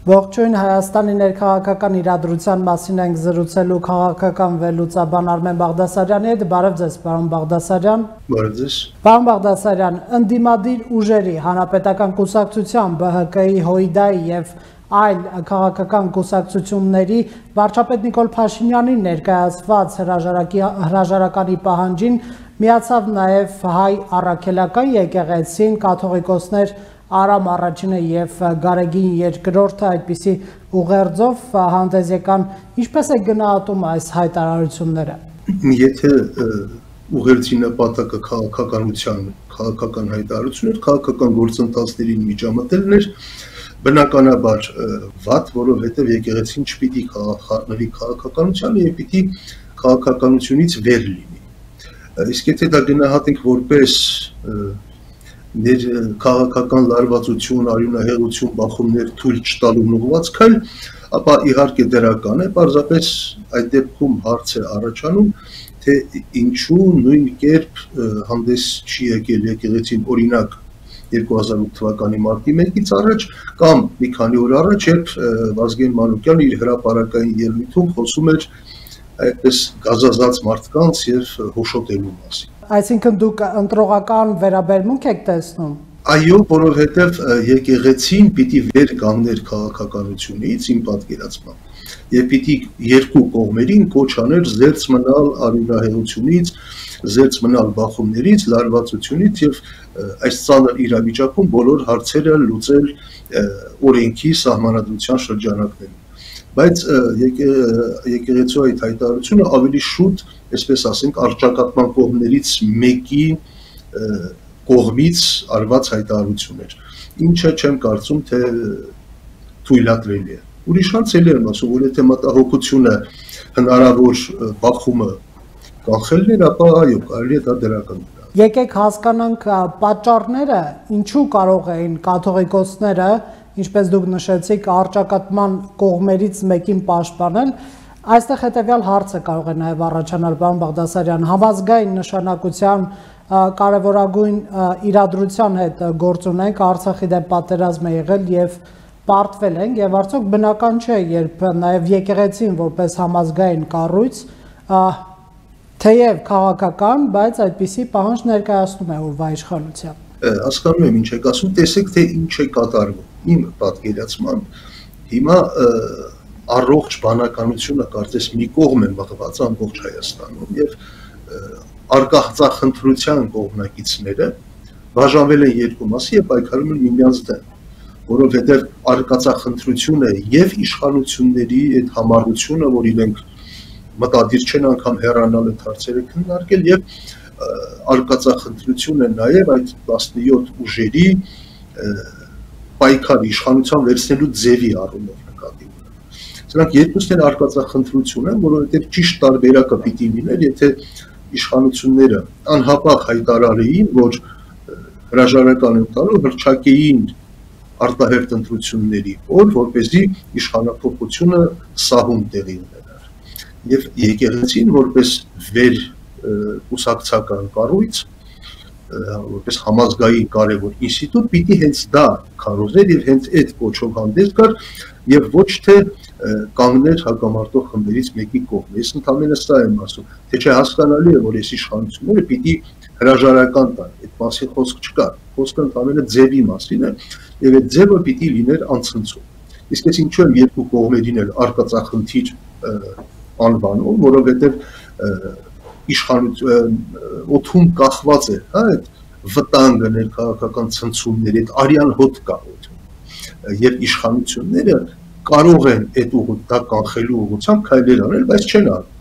Ողջույն, Հայաստանի ներքաղաքական իրադրության մասին ենք զրուցելու քաղաքական վերլուծաբան Արմեն Բաղդասարյանի հետ։ Բարև ձեզ, պարոն Բաղդասարյան։ Բարև ձեզ։ Պարոն Բաղդասարյան, ընդդիմադիր ուժերի, Հանրապետական կուսակցության, ԲՀԿ-ի, ՀՅԴ-ի եւ այլ քաղաքական կուսակցությունների վարչապետ Նիկոլ Փաշինյանին ներկայացված հրաժարականի պահանջին միացավ նաև հայ առաքելական եկեղեցին, կաթողիկոսներ Արամ առաջինը եւ Գարեգին երկրորդը այդպիսի ուղերձով հանդես եկան, ինչպես է գնահատում այս հայտարարությունները։ Եթե ուղերձի նպատակը քաղաքական հայտարարություն էր, քաղաքական գործընթացներին միջամտելն էր, բնականաբար վատ, որովհետև եկեղեցին չպիտի խառնվի քաղաքականությանը եւ պիտի քաղաքականությունից վեր լինի։ Իսկ եթե դա գնահատենք որպես ներ քաղաքական լարվածություն, արյունահեղություն, բախումներ թույլ չտալու ուղղված քայլ, ապա իհարկե դրական է, պարզապես այդ դեպքում հարց է առաջանում, թե ինչու նույն կերպ հանդես չի եկել եկեղեցին, օրինակ 2008 թվականի մարտի 1-ից առաջ կամ մի քանի օր առաջ, երբ Վազգեն Մանուկյանը իր հրապարակային ելույթում խոսում էր այդպես գազազած մարդկանց եւ հոշոտելու մասին։ Այսինքն դուք ընտրողական վերաբերմունք եք տեսնում։ Այո, որովհետև եկեղեցին պիտի վեր կանգներ քաղաքականությունից, իմ պատկերացմամբ, եւ պիտի երկու կողմերին կոչ աներ զերծ մնալ արյունահեղությունից, զերծ մնալ բախումներից, լարվածությունից եւ այս ծանր իրավիճակում բոլոր հարցերը լուծել օրենքի սահմանադրության շրջանակներում։ Բայց եկեղեցու այդ հայտարարությունը ավելի շուտ, այսպես ասենք, առճակատման կողմներից մեկի կողմից արված հայտարարություն էր, ինչը չեմ կարծում, թե թույլատրելի է։ Ուրիշ հարց էլ եմ ասում, որ եթե մտահոգությունը հնարավոր բախումը կանխելն էր, ապա այո, կարելի է դա դրական գնահատել։ Եկեք հասկանանք պատճառները, ինչու կարող էին կաթողիկոսները, ինչպես դուք նշեցիք, առճակատման կողմերից մեկին պաշտպանել, այստեղ հետևյալ հարցը կարող է նաև առաջանալ, պարոն Բաղդասարյան, համազգային նշանակության կարևորագույն իրադրության հետ գործ ունենք, Արցախի դեմ պատերազմ է եղել եւ պարտվել ենք, եւ արդյոք բնական չէ, երբ նաև եկեղեցին որպես համազգային կառույց, թեև քաղաքական, բայց այդպիսի պահանջ ներկայացնում է օրվա իշխանության։ Հասկանում եմ ինչ եք ասում, տեսեք թե ինչ է կատարվում։ Իմ պատկերացմամբ հիմա առողջ բանականությունը կարծես մի կողմ է մղված ամբողջ Հայաստանում եւ արկածախնդրության կողմնակիցները բաժանվել են երկու մասի եւ պայքարում են միմյանց դեմ, որովհետեւ արկածախնդրությունը եւ իշխանությունների այդ համառությունը, որ իրենք մտադիր չեն անգամ հեռանալ այդ հարցերը քննարկել եւ արկածախնդրությունը նաեւ այդ 17 ուժերի պայքար իշխանության վերցնելու ձևի առումով նկատի ունեն։ Սրանք երկուսն են արկածախնդրություն են, որովհետև ճիշտ տարբերակը պիտի լիներ, եթե իշխանությունները անհապաղ հայտարարեին, որ հրաժարական են տալու, հռչակեին արտահերթ ընտրությունների օր, որպեսզի իշխանափոխությունը սահուն տեղի ունենար։ Եվ եկեղեցին որպես վեր կուսակցական կառույց, որպես համազգային կարևոր ինստիտուտ պիտի հենց դա քարոզեր եւ հենց այդ կոչով հանդես գար եւ ոչ թե կանգներ հակամարտող խմբերից մեկի կողմ։ Ես ընդհանրապես սա եմ ասում, թե չէ հասկանալի է, որ այս իշխանությունները պիտի հրաժարական տան, այդ մասին խոսք չկա, խոսքը ընդհանրապես ձևի մասին է եւ այդ ձևը պիտի լիներ անցնցում։ Իսկ ես ինչու եմ երկու կողմերին էլ արկածախնդիր անվանում, որովհետեւ իշխանություն օթում կախված է, հա, այդ վտանգը ներքաղաքական ցնցումների, այդ արյան հոտ կա օթում։ Եվ իշխանությունները կարող են այդ դա կանխելու ուղղությամբ քայլեր անել, բայց չեն անում։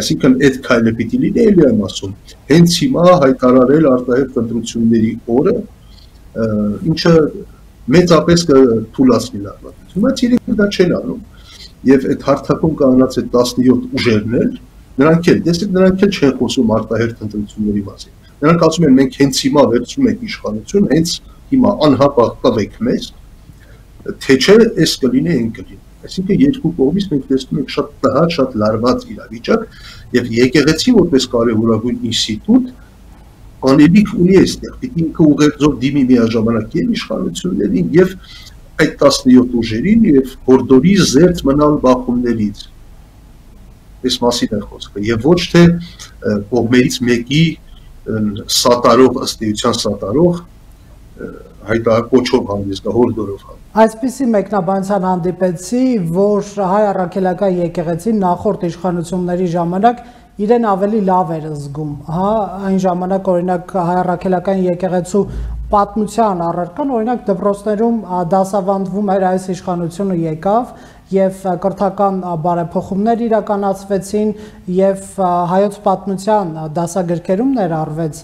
Այսինքն այդ քայլը պիտի լինի, էլի եմ ասում, հենց հիմա հայտարարել արտահերթ ընտրությունների օրը, ինչը մեծապես կթուլացնի լարվածություն, բայց իրենք դա չեն անում։ Եվ այդ հարթակում կանած այդ 17 ուժերն էլ նրանք էլ, տեսեք, նրանք էլ չեն խոսում արտահերթ ընտրությունների մասին։ Նրանք ասում են, մենք հենց հիմա վերցնում ենք իշխանություն, հենց հիմա անհապաղ տվեք մեզ, թե չէ էս կլինի, այն կլինի։ Այսինքն երկու կողմից մենք տեսնում ենք շատ տհաճ, շատ լարված իրավիճակ եւ եկեղեցի որպես կարևորագույն ինստիտուտ անելիք ունի այստեղ, պիտի ինքը ուղերձով դիմի միաժամանակ եւ իշխանություններին եւ այդ 17 ուժերին եւ հորդորի զերծ մնալ բախումներից։ Այս մասին է խոսքը եւ ոչ թե կողմերից մեկի սատարող ըստ էության սատարող հայտարարքով հանդես գա հորդորով։ Այսպիսի մեկնաբանության հանդիպեցի, որ հայ առաքելական եկեղեցին նախորդ իշխանությունների ժամանակ իրեն ավելի լավ էր զգում, հա, այն ժամանակ օրինակ հայ առաքելական եկեղեցու պատմության առարկան, օրինակ դպրոցներում դասավանդվում էր այս իշխանությունը եկավ եւ կրթական բարեփոխումներ իրականացվեցին եւ հայոց պատմության դասագրքերում ներառվեց։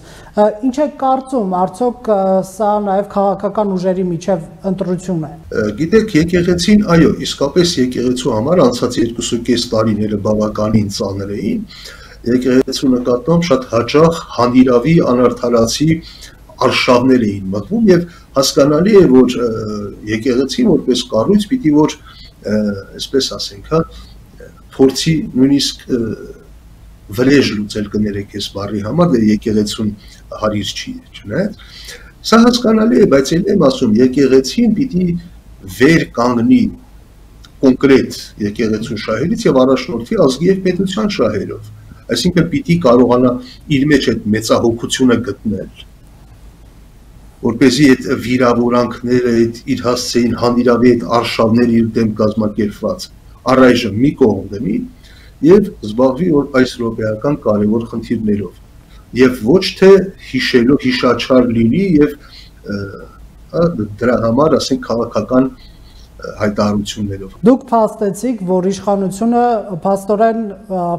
Ինչ է կարծում, արդյոք սա նաեւ քաղաքական ուժերի միջև ընտրություն է։ Գիտեք, եկեղեցին, այո, իսկապես եկեղեցու համար անցած 2.5 տարիները բավականին ծանր էին։ Եկեղեցու նկատմամբ շատ հաճախ հանիրավի անարդարացի արշավներ էին մտնում եւ հասկանալի է, որ եկեղեցին որպես կառույց պիտի որ այսպես ասենք, հա, փորձի նույնիսկ վրեժ լուծել կներեք այս բառի համար, դե եկեղեցուն հարիր չի, չնայած սա հասկանալի է, բայց էլ եմ ասում, եկեղեցին պիտի վեր կանգնի կոնկրետ եկեղեցու շահերից եւ առաջնորդի ազգի եւ պետության շահերով, այսինքն պիտի կարողանա իր մեջ այդ մեծահոգությունը գտնել, որպեսզի այդ վիրավորանքները, այդ իր հասցեին հանիրավի այդ արշավները իր դեմ կազմակերպված առայժմ մի կողմ դնի եւ զբաղվի այս րոպեական կարևոր խնդիրներով եւ ոչ թե հիշելով հիշաչար լինի եւ դրա համար ասենք քաղաքական հայտարարություններով։ Դուք փաստեցիք, որ իշխանությունը փաստորեն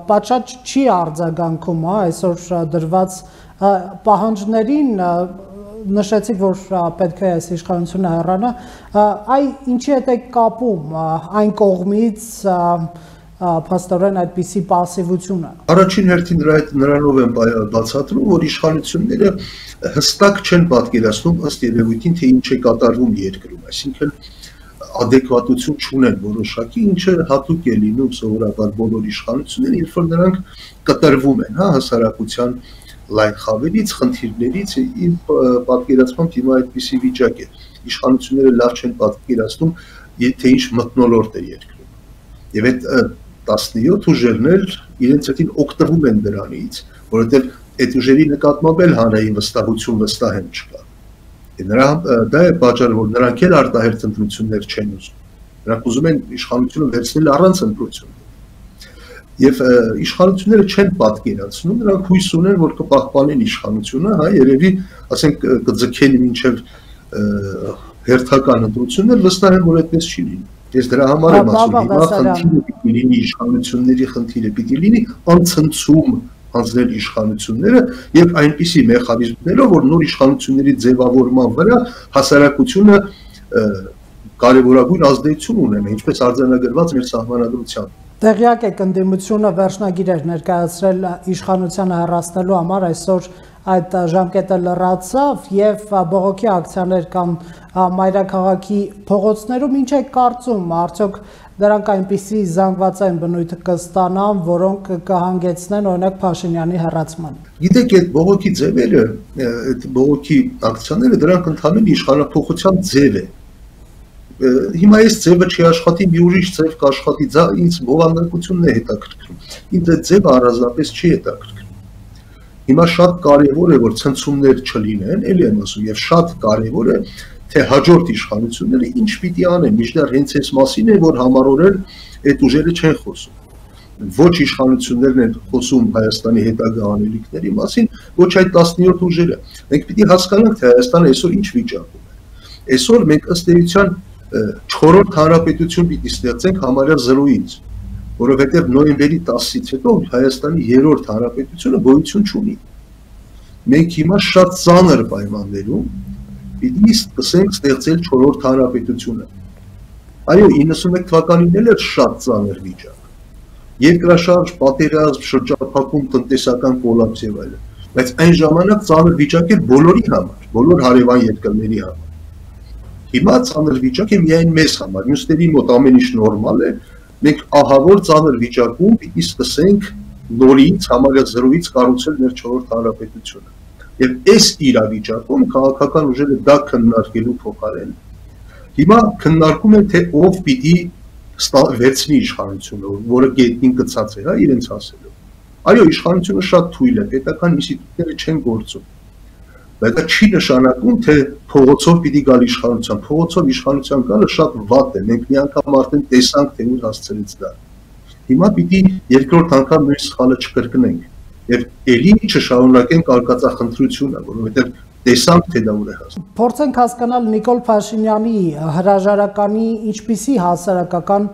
պատշաճ չի արձագանքում, հա, այսօր դրված պահանջներին նշեցիք, որ պետք է այս իշխանությունը հեռանա, այ ինչի հետ է կապում այն կողմից փաստորեն այդպիսի պասիվությունը։ Առաջին հերթին նրանով եմ բացատրում, որ իշխանությունները հստակ չեն պատկերացնում ըստ երևույթին, թե ինչ է կատարվում երկրում, այսինքն adekvatություն չունեն որոշակի, ինչը հատուկ է լինում սովորաբար բոլոր իշխանություններին, երբ որ նրանք կտրվում են, հա, հասարակության լայն խավերից, խնդիրներից, իմ պատկերացմամբ հիմա այդպիսի վիճակ է։ Իշխանությունները լավ չեն պատկերացնում, թե ինչ մթնոլորտ է երկրում։ Եվ այդ 17 ուժերն էլ իրենց հետին օգտվում են դրանից, որովհետև այդ ուժերի նկատմամբ էլ հանրային վստահություն վստահեն չկա։ Դա է պատճառը, որ նրանք էլ արտահերթ ընտրություններ չեն ուզում։ Նրանք ուզում են իշխանությունը վերցնել առանց ընտրությունների։ Եվ իշխանությունները չեն պատկերացնում, նրանք հույս ունեն, որ կպահպանեն իշխանությունը, հա, երևի, ասենք, կձգեն մինչև հերթական ընտրություններ, վստահ եմ, որ այդպես չի լինի։ Ես դրա համար եմ ասում, հիմա խնդիրը պիտի լինի իշխանությունների խնդիրը պիտի լինի անցնցում հանձնել իշխանությունները եւ այնպիսի մեխանիզմներով, որ նոր իշխանությունների ձևավորման վրա հասարակությունը կարևորագույն ազդեցություն ունենա, ինչպես արձանագրված մեր սահմանադրությամբ։ Տեղյակ եք ընդդիմությունը վերջնագիր էր ներկայացրել իշխանությանը հեռացնելու համար, այսօր այդ ժամկետը լրացավ եւ բողոքի ակցիաներ կան մայրաքաղաքի փողոցներում, ինչ է կարծում, արդյոք դրանք այնպիսի զանգվածային բնույթ կստանան, որոնք կհանգեցնեն օրինակ Փաշինյանի հեռացման։ Գիտեք, այդ բողոքի ձևերը, այդ բողոքի ակցիաները, դրանք ընդհանրեն իշխանափոխության ձև է։ Հիմա այս ձևը չի աշխատի, մի ուրիշ ձև կաշխատի, ինձ բովանդակությունն է հետաքրքրում։ Ինձ այդ ձևը առանձնապես չի հետաքրքրում։ Հիմա շատ կարևոր է, որ ցնցումներ չլինեն, էլի եմ ասում, եւ շատ կարևոր է, թե հաջորդ իշխանությունները ինչ պիտի անեն, միշտ հենց այս մասին է, որ համառորեն այդ ուժերը չեն խոսում։ Ոչ իշխանություններն են խոսում Հայաստանի հետագա անելիքների մասին, ոչ այդ 17 ուժերը։ Մենք պիտի հասկանանք, թե Հայաստանը այսօր ինչ վիճակում է։ Այսօր մենք ըստ էության 4-րդ հանրապետություն պիտի ստեղծենք համարյա 0-ից, որովհետև նոյեմբերի 10-ից հետո Հայաստանի 3-րդ հանրապետությունը գոյություն չունի։ Մենք հիմա շատ ծանր պայմաններում պիտի սկսենք ստեղծել 4-րդ հանրապետությունը։ Այո, 91 թվականին էլ էր շատ ծանր վիճակ։ Երկրաշարժ, պատերազմ, շրջափակում, տնտեսական կոլապս եւ այլն։ Բայց այն ժամանակ ծանր վիճակ էր բոլորի համար, բոլոր հարևան երկրների համար։ Հիմա ծանր վիճակ է միայն մեզ համար, մյուսների մոտ ամեն ինչ նորմալ է, մենք ահավոր ծանր վիճակում պիտի սկսենք նորից համարյա 0-ից կառուցել մեր 4-րդ հանրապետությունը։ Եվ այս իրավիճակում քաղաքական ուժերը դա քննարկելու փոխարեն Հիմա քննարկում են թե ով պիտի վերցնի իշխանությունը, որը գետնին գցած է, հա, իրենց ասելով։ Այո, իշխանությունը շատ թույլ է, պետական ինստիտուտները չեն գործում։ Բայց դա չի նշանակում, թե փողոցով պիտի գալ իշխանության։ Փողոցով իշխանության գալը շատ վատ է։ Մենք մի անգամ արդեն տեսանք, թե ուր հասցրեց դա։ Հիմա պիտի երկրորդ անգամ նույն սխալը չկրկնենք եւ ելի չշարունակենք արկածախնդրությունը, որովհետեւ տեսանք, թե դա ուր է հասնում։ Փորձենք հասկանալ Նիկոլ Փաշինյանի հրաժարականի ինչպիսի հասարակական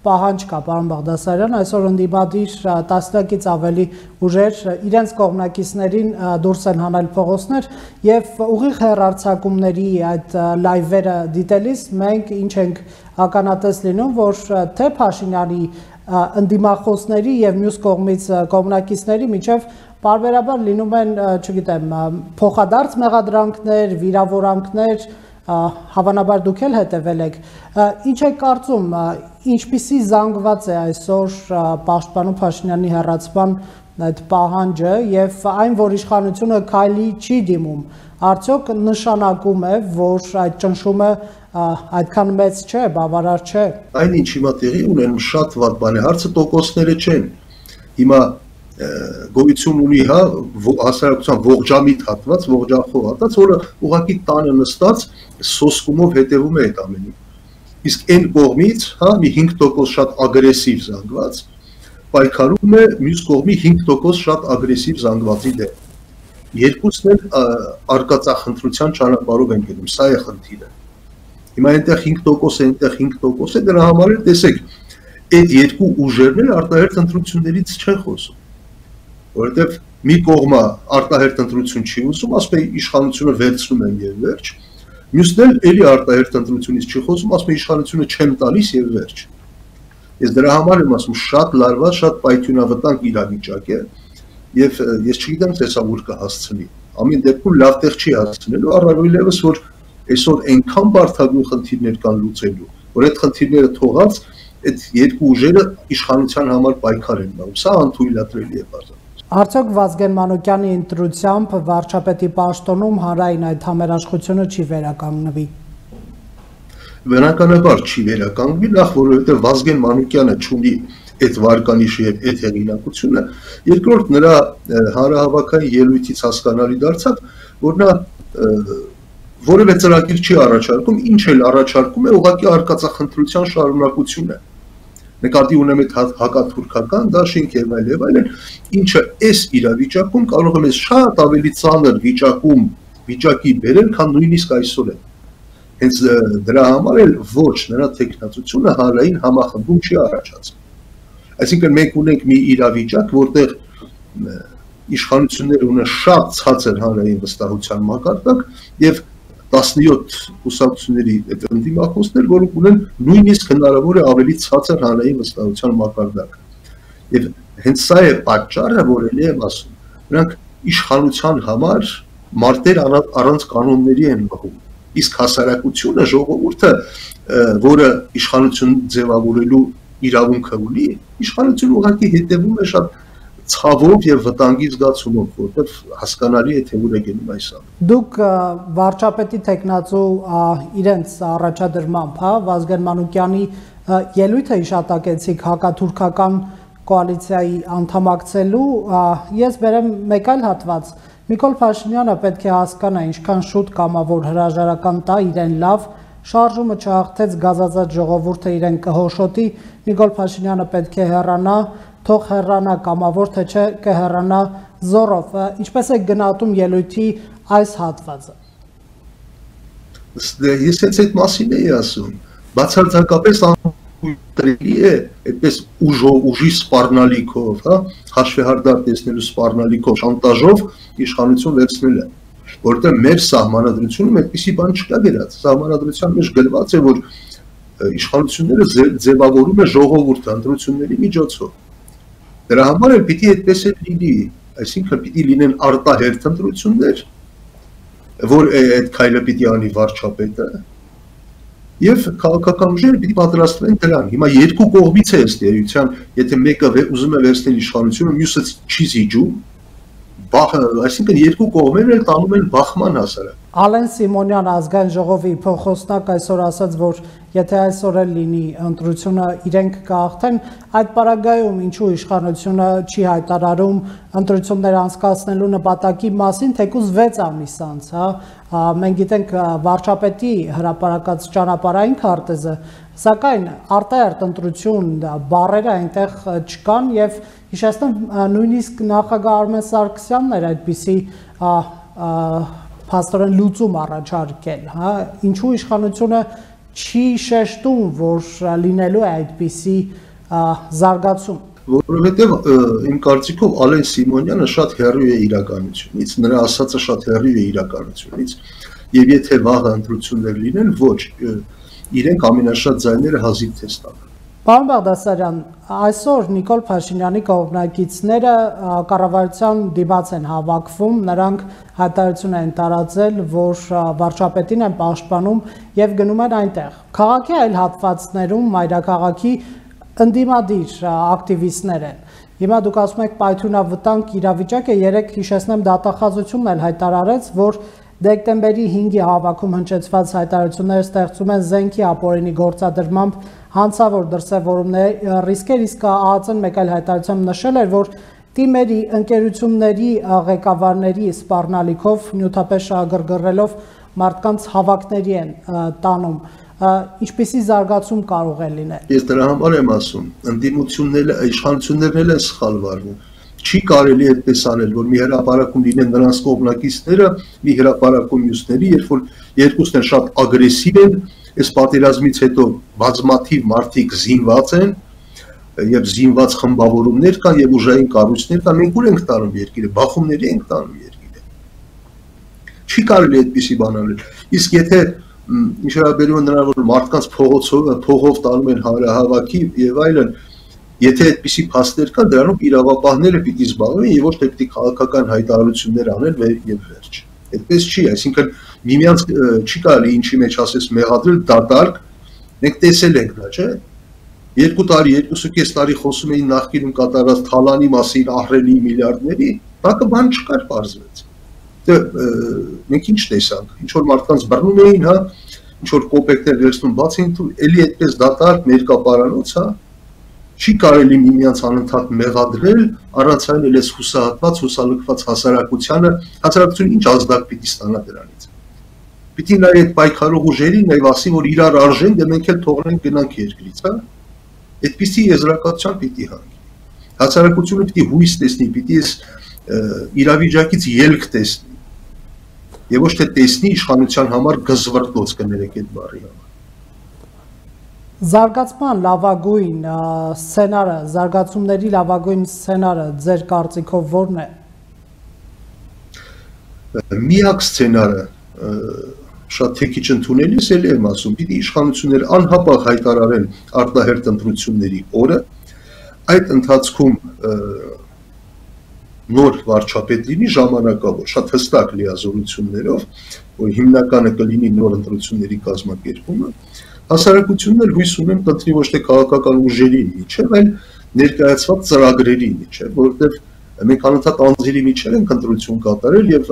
պահանջ կա, պարոն Բաղդասարյան, այսօր ընդդիմադիր տասնյակից ավելի ուժեր իրենց կողմնակիցներին դուրս են հանել փողոցներ եւ ուղիղ հեռարձակումների այդ լայվերը դիտելիս մենք ինչ ենք ականատես լինում, որ թե Փաշինյանի ընդդիմախոսների եւ մյուս կողմից կողմնակիցների միջև պարբերաբար լինում են, չգիտեմ, փոխադարձ մեղադրանքներ, վիրավորանքներ, հավանաբար դուք էլ հետևել եք։ Ինչ եք կարծում, ինչպիսի զանգված է այսօր պաշտպանում Փաշինյանի հեռացման այդ պահանջը եւ այն, որ իշխանությունը քայլի չի դիմում, արդյոք նշանակում է, որ այդ ճնշումը այդքան մեծ չէ, բավարար չէ։ Այն ինչ հիմա տեղի ունենում շատ վատ բան է, հարցը տոկոսները չեն։ Հիմա գոյություն ունի, հա, հասարակության ողջամիտ հատված, ողջախոհ հատված, որը ուղղակի տանը նստած սոսկումով հետևում է այդ ամենին։ Իսկ այն կողմից, հա, մի 5% շատ ագրեսիվ զանգված պայքարում է մյուս կողմի 5% շատ ագրեսիվ զանգվածի դեմ։ Երկուսն էլ արկածախնդրության ճանապարհով են գնում, սա է խնդիրը։ Հիմա այնտեղ 5% է, այնտեղ 5% է, դրա համար էլ տեսեք, այդ երկու ուժերն էլ արտահերթ ընտրություններից չեն խոսում։ Որովհետև մի կողմը արտահերթ ընտրություն չի ուզում, ասում է իշխանությունը վերցնում են եւ վերջ, մյուսն էլ էլի արտահերթ ընտրությունից չի խոսում, ասում է իշխանությունը չեմ տալիս եւ վերջ։ Ես դրա համար եմ ասում, շատ լարված, շատ պայթյունավտանգ իրավիճակ է եւ ես չգիտեմ թե սա ուր կհասցնի։ Ամեն դեպքում լավ տեղ չի հասցնելու, առավելևս որ այսօր այնքան բարդագույն խնդիրներ կան լուծելու, որ այդ խնդիրները թողած այդ երկու ուժերը իշխանության համար պայքար են անում։ Սա անթույլատրելի է բարձր։ Արդյոք Վազգեն Մանուկյանի ընտրությամբ վարչապետի պաշտոնում հանրային այդ համերաշխությունը չի վերականգնվի։ Բնականաբար չի վերականգնվի, նախ որովհետև Վազգեն Մանուկյանը չունի այդ վարկանիշը եւ այդ հեղինակությունը, երկրորդ նրա հանրահավաքային ելույթից հասկանալի դարձավ, որ նա որևէ ծրագիր չի առաջարկում, ինչ էլ առաջարկում է ուղղակի արկածախնդրության շարունակություն է։ Նկատի ունեմ այդ հակաթուրքական դաշինք եւ այլն, ինչը այս իրավիճակում կարող է մեզ շատ ավելի ծանր վիճակի բերել, քան նույնիսկ այսօր է։ Հենց դրա համար էլ ոչ նրա տեխնացությունը հանրային համախմբում չի առաջացնում։ Այսինքն մենք ունենք մի իրավիճակ, որտեղ իշխանությունները ունեն շատ ցածր հանրային վստահության մակարդակ եւ 17 կուսակցությունների այդ ընդդիմախոսներ, որոնք ունեն նույնիսկ հնարավոր է ավելի ցածր հանրային վստահության մակարդակ։ Եվ հենց սա է պատճառը, որ ելի եմ ասում, նրանք իշխանության համար մարտեր առանց կանոնների են մղում։ Իսկ հասարակությունը, ժողովուրդը, որը իշխանություն ձևավորելու իրավունքը ունի, իշխանությունը ուղղակի հետևում է շատ ցավով եւ վտանգի զգացումով, որտեղ հասկանալի է թե ուր է գնում այս ամենը։ Դուք վարչապետի տեխնացու իրենց առաջադրմամբ, հա, Վազգեն Մանուկյանի ելույթը հիշատակեցիք հակաթուրքական կոալիցիայի անդամակցելու, ես բերեմ մեկ այլ հատված։ Նիկոլ Փաշինյանը պետք է հասկանա ինչքան շուտ կամավոր հրաժարական տա իրեն լավ, շարժումը չհաղթեց գազազած ժողովուրդը իրեն կհոշոտի, Նիկոլ Փաշինյանը պետք է հեռանա, թող հեռանա կամավոր, թե չէ կհեռանա զորով։ Ինչպես է գնահատում ելույթի այս հատվածը։ Ես հենց այդ մասին էի ասում, բացարձակապես անհույտրելի է այդպես ուժի սպառնալիքով, հա, հաշվեհարդար տեսնելու սպառնալիքով, շանտաժով իշխանություն վերցնելը, որովհետև մեր սահմանադրությունում այդպիսի բան չկա գրած։ Սահմանադրության մեջ գրված է, որ իշխանությունները ձևավորում է ժողովուրդը ընտրությունների միջոցով։ Դրա համար էլ պիտի այդպես էլ լինի, այսինքն պիտի լինեն արտահերթ ընտրություններ, որ այդ քայլը պիտի անի վարչապետը, եւ քաղաքական ուժերը պիտի պատրաստվեն դրան։ Հիմա երկու կողմից է ըստ էության, եթե մեկը ուզում է վերցնել իշխանությունը, մյուսը չի զիջում, այսինքն երկու կողմերն էլ տանում են բախման հասարակ։ Ալեն Սիմոնյան ազգային ժողովի փոխոսնակ այսօր ասաց, որ եթե այսօր էլ լինի ընտրությունը իրենք կհաղթեն, այդ պարագայում ինչու իշխանությունը չի հայտարարում ընտրություններ անցկացնելու նպատակի մասին, թեկուզ 6 ամիս անց, մենք գիտենք վարչապետի հրապարակած ճանապարհային քարտեզը, սակայն արտահերթ ընտրություն բառերը այնտեղ չկան եւ հիշեցնեմ նույնիսկ նախագահ Արմեն Սարգսյանն էր այդպիսի փաստորեն լուծում առաջարկել, ինչու իշխանությունը չի շեշտում, որ լինելու է այդպիսի զարգացում։ Որովհետև իմ կարծիքով Ալեն Սիմոնյանը շատ հեռու է իրականությունից, նրա ասածը շատ հեռու է իրականությունից, եւ եթե վաղ ընտրություններ լինեն, ոչ, իրենք ամենաշատ ձայները հազիվ թե ստանան։ Պարոն Բաղդասարյան, այսօր Նիկոլ Փաշինյանի կողմնակիցները կառավարության դիմաց են հավաքվում, նրանք հայտարարություն են տարածել, որ վարչապետին են պաշտպանում եւ գնում են այնտեղ։ Քաղաքի այլ հատվածներում մայրաքաղաքի ընդդիմադիր ակտիվիստներ են։ Հիմա դուք ասում եք պայթյունավտանգ իրավիճակ է, երեք հիշեցնեմ դատախազությունն էլ հայտարարեց, որ դեկտեմբերի 5-ի հավաքում հնչեցված հայտարարությունները ստեղծում են զենքի ապօրինի գործադրմամբ հանցավոր դրսևորումների ռիսկեր, իսկ ԱԱԾ-ն մեկ այլ հայտարարությամբ նշել էր, որ թիմերի ընկերությունների ղեկավարների սպառնալիքով նյութապես շահագրգռելով մարդկանց հավաքների են տանում։ Ինչպիսի զարգացում կարող է լինել։ Ես դրա համար եմ ասում, ընդդիմությունները, իշխանություններն են սխալ վարվում։ Չի կարելի այդպես անել, որ մի հրապարակում լինեն նրանց կողմնակիցները, մի հրապարակում մյուսների, երբ որ երկուսն են շատ ագրեսիվ են, այս պատերազմից հետո բազմաթիվ մարդիկ զինված են, եւ զինված խմբավորումներ կան եւ ուժային կառույցներ կան, մենք ուր ենք տանում երկիրը, բախումների ենք տանում երկիրը։ Չի կարելի այդպիսի բան անել։ Իսկ եթե ինչ վերաբերում է նրան, որ մարդկանց փողով տանում են հանրահավաքի եւ այլն, եթե այդպիսի փաստեր կան, դրանով իրավապահները պիտի զբաղվեն եւ ոչ թե պիտի քաղաքական հայտարարություններ անեն եւ վերջ։ Այդպես չի, այսինքն միմյանց չի կարելի ինչի մեջ ասես մեղադրել դատարկ, մենք տեսել ենք դա, չէ՞։ 2 տարի, 2.5 տարի խոսում էին նախկինում կատարած թալանի մասին, ահռելի միլիարդների, բակը բան չկար, պարզվեց։ Դե մենք ինչ տեսանք, ինչ որ մարդկանց բռնում էին, հա, ինչ որ կոպեկներ վերցնում, բացին თუ էլի այդպես դատարկ ներկապարանոց, հա, չի կարելի միմյանց անընդհատ մեղադրել, առանց այն էլ էս հուսահատված, հուսալքված հասարակությունը ինչ ազդակ պիտի ստանա դրանից։ Պիտի նայ այդ պայքարող ուժերին, նայ ասի, որ իրար արժեն, դե մենք էլ թողնենք գնանք երկրից, հա։ Այդպիսի եզրակացության պիտի հանգի։ Հասարակությունը պիտի հույս տեսնի, պիտի այս իրավիճակից ելք տեսնի։ Եվ ոչ թե տեսնի իշխանության համար գզվռտոց կներեք այդ բառի համար։ Զարգացման լավագույն սցենարը, զարգացումների լավագույն սցենարը ձեր կարծիքով ո՞րն է։ Միակ սցենարը շատ թեքիչ ընդունելիս էլ եմ ասում, պիտի իշխանությունները անհապաղ հայտարարեն արտահերթ ընտրությունների օրը, այդ ընթացքում նոր վարչապետ լինի ժամանակավոր, շատ հստակ լիազորություններով, որ հիմնականը կլինի նոր ընտրությունների կազմակերպումը, հասարակությունն էլ հույս ունեմ կընտրի ոչ թե քաղաքական ուժերի միջև, այլ ներկայացված ծրագրերի միջև, որովհետև մենք անընդհատ անձերի միջև ենք ընտրություն կատարել եւ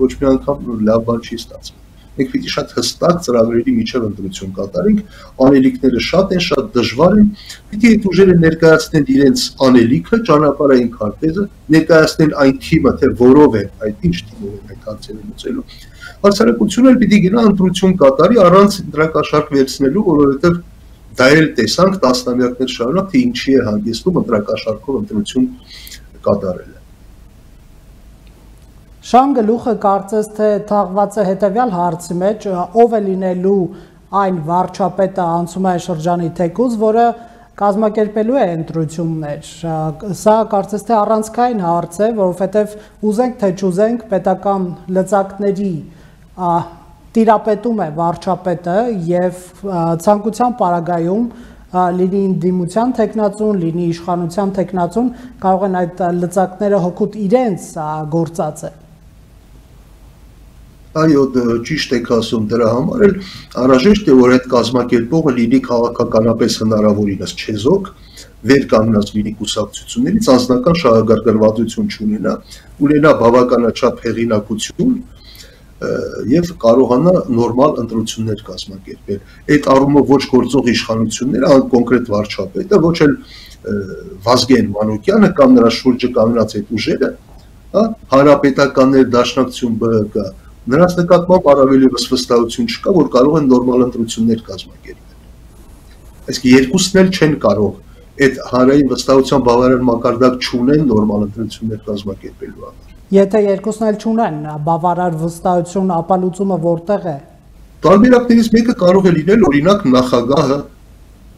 ոչ մի անգամ լավ բան չի ստացվում։ Մենք պիտի շատ հստակ ծրագրերի միջև ընտրություն կատարենք, անելիքները շատ են, շատ դժվար են, պիտի այդ ուժերը ներկայացնեն իրենց անելիքը, ճանապարհային քարտեզը, ներկայացնեն այն թիմը, թե որով է, այդ ինչ թիմով են այդ հարցերը լուծելու։ Հասարակությունը էլ պիտի գնա ընտրություն կատարի առանց ընտրակաշառք վերցնելու, որովհետև դա էլ տեսանք տասնամյակներ շարունակ, թե ինչի է հանգեցնում ընտրակաշառքով ընտրություն կատարելը։ Շան գլուխը կարծես թե թաղված է հետևյալ հարցի մեջ, ով է լինելու այն վարչապետը անցումային շրջանի թեկուզ, որը կազմակերպելու է ընտրություններ։ Սա կարծես թե առանցքային հարց է, որովհետև ուզենք թե չուզենք պետական լծակների տիրապետում է վարչապետը եւ ցանկության պարագայում լինի ընդդիմության տեխնացուն, լինի իշխանության տեխնացուն, կարող են այդ լծակները հօգուտ իրենց գործածել։ Այո, ճիշտ եք ասում, դրա համար էլ անհրաժեշտ է, որ այդ կազմակերպողը լինի քաղաքականապես հնարավորինս չեզոք, վեր կանգնած լինի կուսակցություններից, անձնական շահագրգռվածություն չունենա, ունենա բավականաչափ հեղինակություն, եւ կարողանա նորմալ ընտրություններ կազմակերպել։ Այդ առումով ոչ գործող իշխանությունները, կոնկրետ վարչապետը, ոչ էլ Վազգեն Մանուկյանը կամ նրա շուրջը կանգնած այդ ուժերը, հանրապետականներ, դաշնակցություն ԲՀԿ, նրանց նկատմամբ առավել եւս վստահություն չկա, որ կարող են նորմալ ընտրություններ կազմակերպել։ Այսինքն երկուսն էլ չեն կարող այդ հանրային վստահության բավարար մակարդակ չունեն նորմալ ընտրություններ կազմակերպելու համար։ Եթե երկուսն էլ չունեն բավարար վստահություն, ապա լուծումը որտեղ է։ Տարբերակներից մեկը կարող է լինել օրինակ նախագահը,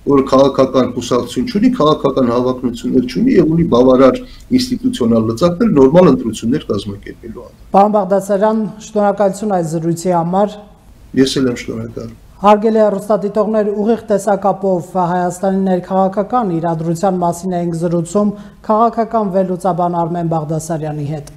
որ քաղաքական կուսակցություն չունի, քաղաքական հավակնություններ չունի եւ ունի բավարար ինստիտուցիոնալ լծակներ նորմալ ընտրություններ կազմակերպելու համար։ Պարոն Բաղդասարյան, շնորհակալություն այս զրույցի համար։ Ես էլ եմ շնորհակալ։ Հարգելի հեռուստադիտողներ, ուղիղ տեսակապով Հայաստանի ներքաղաքական իրադրության մասին ենք զրուցում քաղաքական վերլուծաբան Արմեն Բաղդասարյանի հետ։